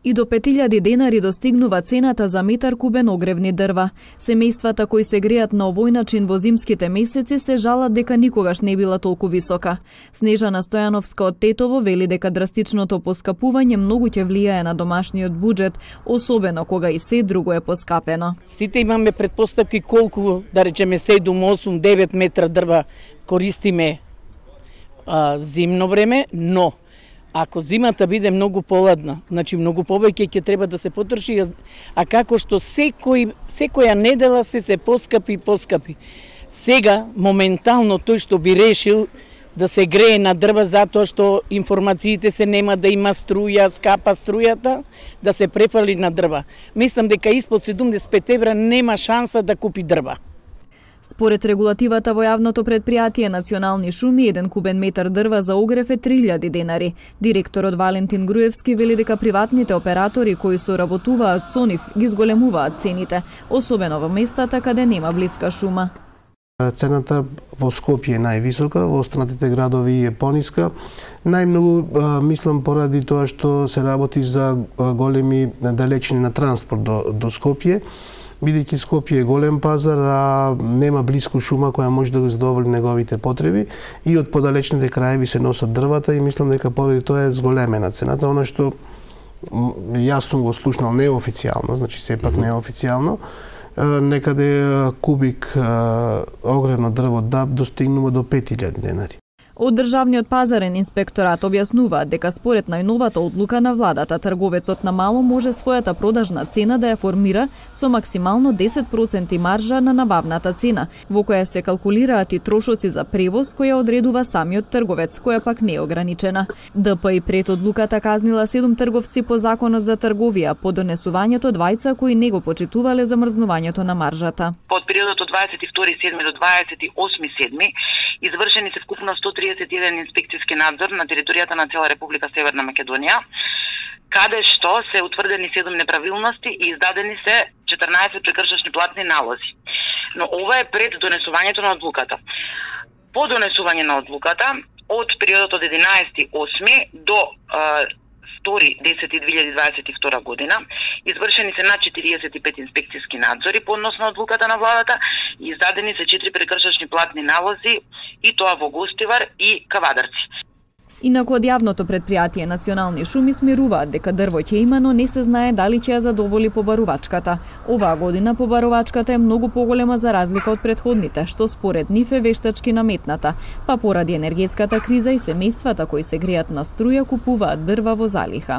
И до 5000 денари достигнува цената за метар кубен огревни дрва. Семејствата кои се греат на овој начин во зимските месеци се жалат дека никогаш не била толку висока. Снежана Стојановска од Тетово вели дека драстичното поскапување многу ќе влијае на домашниот буџет, особено кога и се друго е поскапено. Сите имаме претпоставки колку, да речеме 7, 8, 9 метра дрва користиме зимно време, но ако зимата биде многу поладна, значи многу повеќе ќе треба да се потроши, а како што секоја недела се поскапи и поскапи. Сега, моментално, тој што би решил да се грее на дрва затоа што информациите се нема да има струја, скапа струјата, да се префали на дрва. Мислам дека испод 75 евра нема шанса да купи дрва. Според регулативата во јавното предпријатие Национални шуми, 1 кубен метар дрва за огрев е 3000 денари. Директорот Валентин Груевски вели дека приватните оператори кои соработуваат со нив ги зголемуваат цените, особено во местата каде нема блиска шума. Цената во Скопје е највисока, во останатите градови е пониска. Најмногу мислам поради тоа што се работи за големи далечини на транспорт до Скопје. Бидејќи Скопје е голем пазар, а нема блиску шума која може да го задоволи неговите потреби и од подалечните краеви се носат дрвата и мислам дека поради тоа е зголемена цената. Она што јас сум го слушнал неофицијално, значи сепак неофицијално, некаде кубик огревно дрво ДАБ достигнува до 5000 денари. Од Државниот пазарен инспекторат објаснуваат дека според најновата одлука на владата, трговецот на мало може својата продажна цена да ја формира со максимално 10% маржа на набавната цена, во која се калкулираат и трошоци за превоз која одредува самиот трговец, која пак не е ограничена. ДП и пред одлуката казнила 7 трговци по Законот за трговија по донесувањето двајца кои не го почитувале замрзнувањето на маржата. Од периодот од 22.7 до 28.7 извршени се вкупно 131 инспекцијски надзор на територијата на цела Република Северна Македонија, каде што се утврдени 7 неправилности и издадени се 14 прекршачни платни налози. Но ова е пред донесувањето на одлуката. По донесување на одлуката, од периодот од 11.8 до 2.10.2022 година, извршени се над 45 инспекцијски надзори по однос на одлуката на владата и издадени се 4 прекршачни платни налози, и тоа во Гостивар и Кавадарци. Инаку од јавното предпријатие Национални шуми смируваат дека дрво ќе има, но не се знае дали ќе ја задоволи побарувачката. Оваа година побарувачката е многу поголема за разлика од претходните, што според нив е вештачки наметната, па поради енергетската криза и семејствата кои се греат на струја купуваат дрва во залиха.